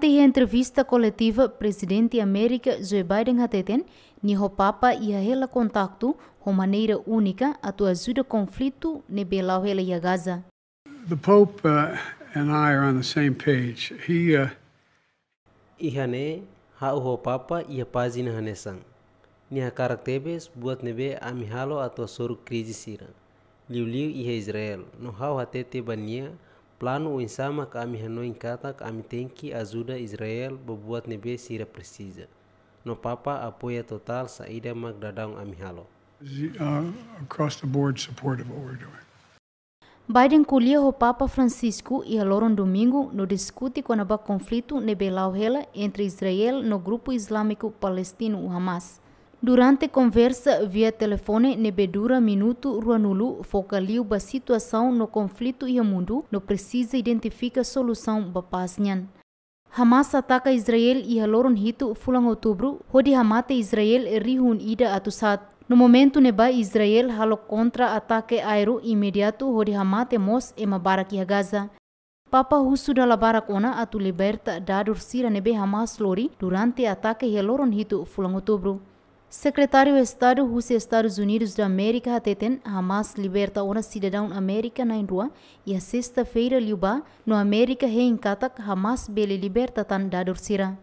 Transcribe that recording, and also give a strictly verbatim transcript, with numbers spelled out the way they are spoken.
Iha entrevista koletiva, Prezidente Amérika Joe Biden hateten, nia ho Papa iha hela kontaktu ho maneira únika atu ajuda konflitu ne'ebé la'o hela iha Gaza. The Pope uh, and I are on the same page. He uh, Iha ne'e, ha'u ho Papa iha pájina hanesan. Nia hakarak tebes buat ne'ebé ami halo atu hasoru krize sira, liuliu iha Israel. No ha'u hatete ba nia planu oinsá mak ami hanoin katak ami tenke ajuda Israel ba buat ne'ebé sira presiza. No Papa apoia totál saida mak daudaun ami halo. Uh, across the board supportive of what we're doing. Biden ko'alia ho Papa Francisco iha loron Domingu no diskute kona-ba konflitu ne'ebé la'o hela entre Israel no grupu izlámiku palestinu Hamas. Durante konversa via telefone ne'ebé dura minutu ruanulu, foka liu ba situasaun no konflitu iha mundu no presiza identifika solusaun ba pás nian. Hamas ataka Israel iha loron hitu fulan Outubru, hodi hamate Israel rihun ida atus haat. No momentu ne'ebá Israel halo kontra-atake aéreu imediatu hodi hamate mós ema barak iha Gaza. Papa husu dala barak ona atu liberta dadur sira ne'ebé Hamas lori durante atake iha loron hitu fulan Outubru. Sekretáriu Estadu husi Estadus Unidus da Amérika hateten Hamas liberta ona sidadaun Amérika na'in-rua iha sesta-feira liubá, no Amérika hein katak Hamas bele liberta tan dadur sira.